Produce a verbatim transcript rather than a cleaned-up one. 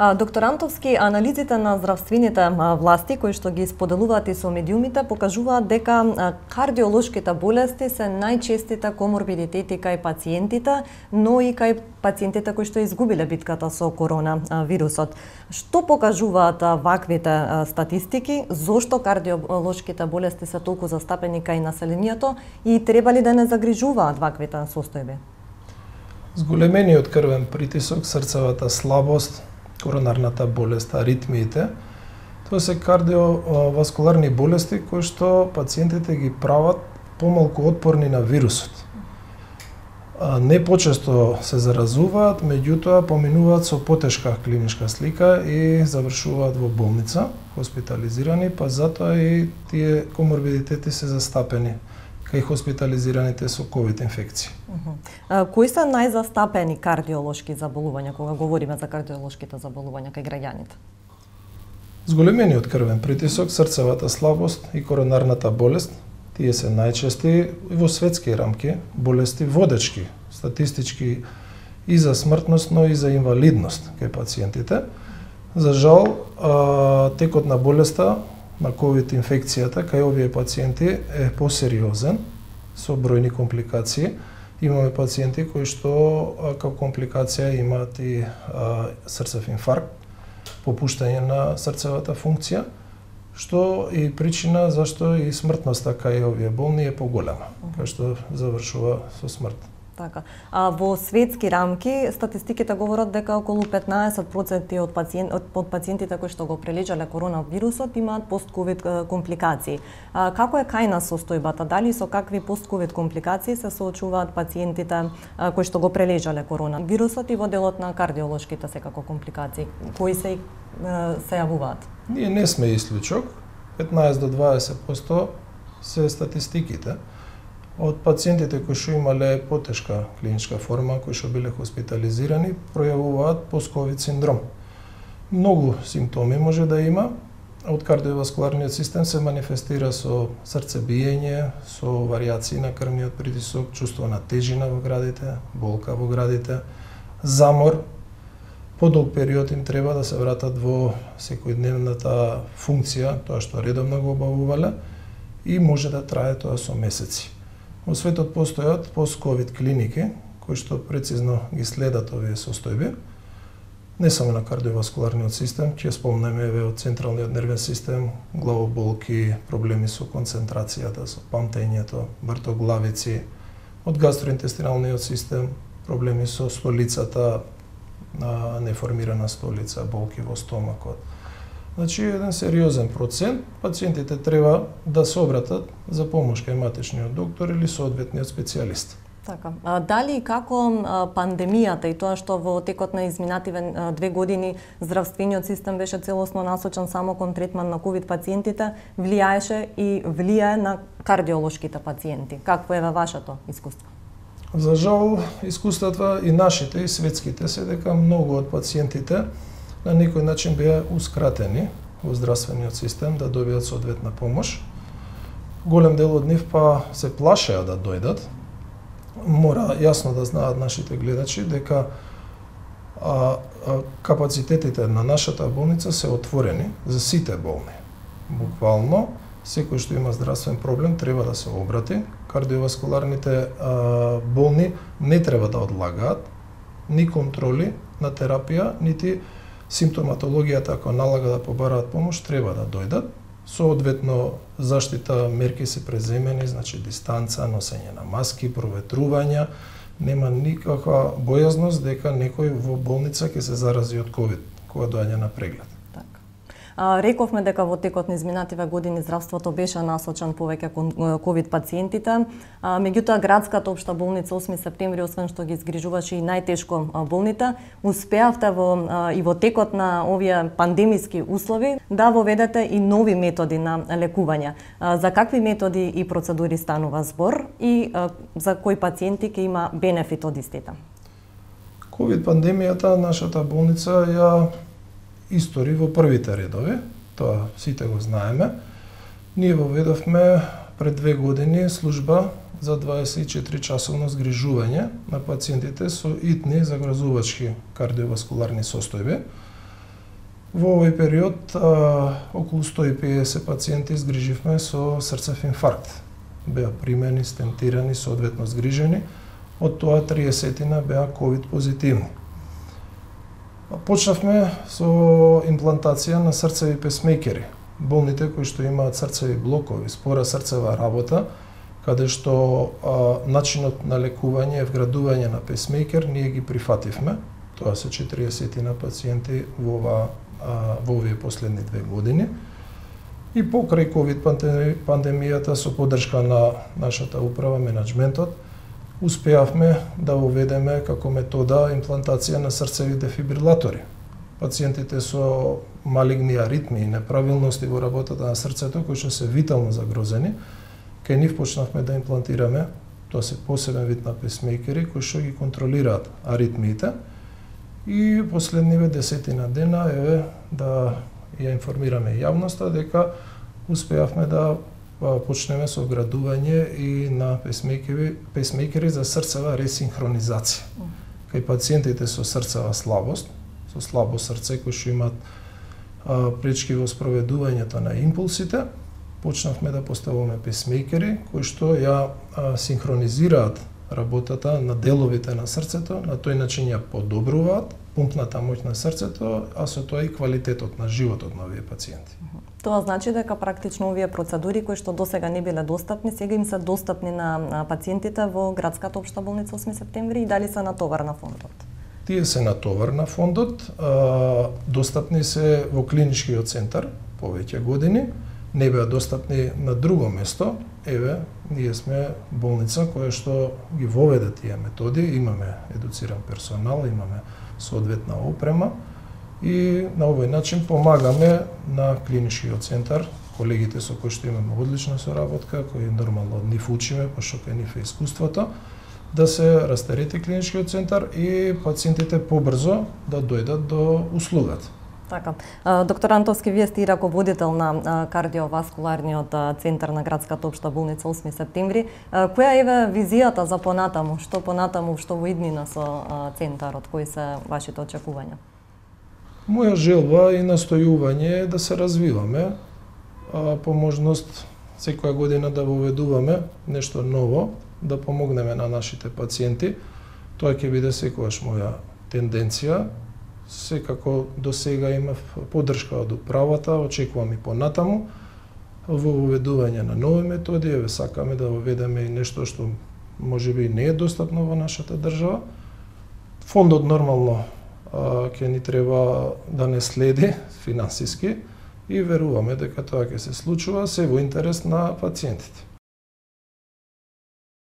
Доктор Антовски, анализите на здравствените власти кои што ги споделуваат и со медиумите покажуваат дека кардиолошките болести се најчестите коморбидитети кај пациентите, но и кај пациентите кои што изгубиле битката со коронавирусот. Што покажуваат ваквите статистики? Зошто кардиолошките болести се толку застапени кај населението и треба ли да не загрижуваат ваквите состојби? Зголемениот крвен притисок, срцевата слабост, коронарната болест, аритмиите, тоа се кардиоваскуларни болести кои што пациентите ги прават помалку отпорни на вирусот. Не почесто се заразуваат, меѓутоа поминуваат со потешка клиничка слика и завршуваат во болница, хоспитализирани, па затоа и тие коморбидитети се застапени кај хоспитализираните со ковид инфекции. Uh-huh. Кои се најзастапени кардиолошки заболувања кога говориме за кардиолошките заболувања кај граѓаните? Зголемениот крвен притисок, срцевата слабост и коронарната болест, тие се најчести и во светски рамки болести водечки, статистички и за смртност, но и за инвалидност кај пациентите. За жал, текот на болеста на ковид инфекцијата кај овие пациенти е посериозен, со бројни компликации. Имаме пациенти кои што како компликација имаат и а, срцев инфаркт, попуштање на срцевата функција, што е причина зашто и смртноста кај овие болни е поголема, кај што завршува со смрт. Така. А во светски рамки статистиките говорат дека околу петнаесет проценти од пациент од пациентите кои што го прележале коронавирусот имаат постковид компликации. А, како е кај нас состојбата? Дали со какви постковид компликации се соочуваат пациентите а, кои што го прележале коронавирусот и во делот на кардиолошките секако компликации? Кои се а, се јавуваат? Ние не сме исклучок. петнаесет до дваесет проценти се статистиките. Од пациентите кои што имале потешка клиничка форма, кои што биле хоспитализирани, пројавуваат постковид синдром. Многу симптоми може да има. Од кардиоваскуларниот систем се манифестира со срцебиење, со варијации на крвниот притисок, чувство на тежина во градите, болка во градите, замор. Подолг период им треба да се вратат во секојдневната функција, тоа што редовно го обавувале, и може да трае тоа со месеци. Во светот постојат пост-ковид клиники кои што прецизно ги следат овие состојби, не само на кардиоваскуларниот систем, ќе спомнеме еве од централниот нервен систем, главоболки, проблеми со концентрацијата, со памтењето, вртоглавици, од гастроинтестиналниот систем, проблеми со столицата, неформирана столица, болки во стомакот. Значи, еден сериозен процент, пациентите треба да се обратат за помош кај матичниот доктор или соодветниот специјалист. Така. А, дали и како а, пандемијата и тоа што во текот на изминативе две години здравствениот систем беше целосно насочен само кон третман на ковид пациентите, влијаеше и влијае на кардиолошките пациенти? Какво е вашето искуство? За жал, искуствата и нашите и светските се дека многу од пациентите на некој начин беа ускратени во здравствениот систем да добијат соодветна помош. Голем дел од нив па се плашеа да дојдат. Мора јасно да знаат нашите гледачи дека а, а, капацитетите на нашата болница се отворени за сите болни. Буквално, секој што има здравствен проблем треба да се обрати. Кардиоваскуларните а, болни не треба да одлагаат ни контроли на терапија, нити симптоматологијата, ако налага да побараат помош, треба да дојдат. Соодветно, заштита мерки се преземени, значи дистанца, носење на маски, проветрувања. Нема никаква бојазност дека некој во болница ќе се зарази од ковид кога доаѓа на преглед. А, рековме дека во текот на изминативе години здравството беше насочен повеќе кон ковид пациентите. А, меѓутоа градската општа болница осми септември, освен што ги згрижуваше и најтешко болните, успеавте во а, и во текот на овие пандемиски услови да воведете и нови методи на лекување. А, за какви методи и процедури станува збор и а, за кои пациенти ќе има бенефит од истите? Ковид пандемијата нашата болница ја истори во првите редови, тоа сите го знаеме. Ние воведовме пред две години служба за дваесет и четири часовно згрижување на пациентите со итни загрозувачки кардиоваскуларни состојби. Во овој период а, околу сто и педесет пациенти згриживме со срцев инфаркт. Беа примени, стентирани, соодветно згрижени, од тоа триесетина беа ковид позитивни. Почнавме со имплантација на срцеви песмейкери. Болните кои што имаат срцеви блокови, спора срцева работа, каде што а, начинот на лекување е вградување на песмейкер, ние ги прифативме. Тоа се четириесетина пациенти во, ова, а, во овие последни две години. И покрај ковид пандемијата со поддршка на нашата управа, менеджментот, успеавме да уведеме како метода имплантација на срцеви дефибрилатори. Пациентите со малигни аритми и неправилности во работата на срцето, кои што се витално загрозени, кај нив почнавме да имплантираме, тоа се посебен вид на песмейкери кои што ги контролираат аритмиите. И последниве десетина дена еве да ја информираме јавноста дека успеавме да почнеме со вградување и на песмейкери, песмейкери за срцева ресинхронизација. Кај пациентите со срцева слабост, со слабо срце кои што имаат а, пречки во спроведувањето на импулсите, почнавме да поставуваме песмейкери кои што ја а, синхронизираат работата на деловите на срцето, на тој начин ја подобруваат пумпната моќ на срцето, а со тоа и квалитетот на животот на овие пациенти. Тоа значи дека практично овие процедури кои што досега не биле достапни, сега им се достапни на пациентите во градската општа болница осми септември и дали се натовар на фондот? Тие се натовар на фондот, а, достапни се во клиничкиот центар повеќе години, не беа достапни на друго место. Еве, ние сме болница која што ги воведе тие методи, имаме едуциран персонал, имаме соодветна опрема и на овој начин помагаме на клиничкиот центар, колегите со кои што имаме одлична соработка, кои нормално од нив учиме, пошто кај нив е искуството, да се растерети клиничкиот центар и пациентите побрзо да дојдат до услугата. Така. Доктор Антовски, вие сте и раководител на кардиоваскуларниот центар на градската општа болница осми септември. Која е визијата за понатаму? Што понатаму, што во иднина со центарот? Кои се вашите очекувања? Моја желба и настојување е да се развиваме, по можност секоја година да воведуваме нешто ново, да помогнеме на нашите пациенти. Тоа ќе биде секогаш моја тенденција. Секако до сега имав поддршка од управата, очекувам и понатаму во воведување на нови методи, еве сакаме да воведеме и нешто што можеби не е достапно во нашата држава. Фондот нормално ќе ни треба да не следи финансиски и веруваме дека тоа ќе се случува се во интерес на пациентите.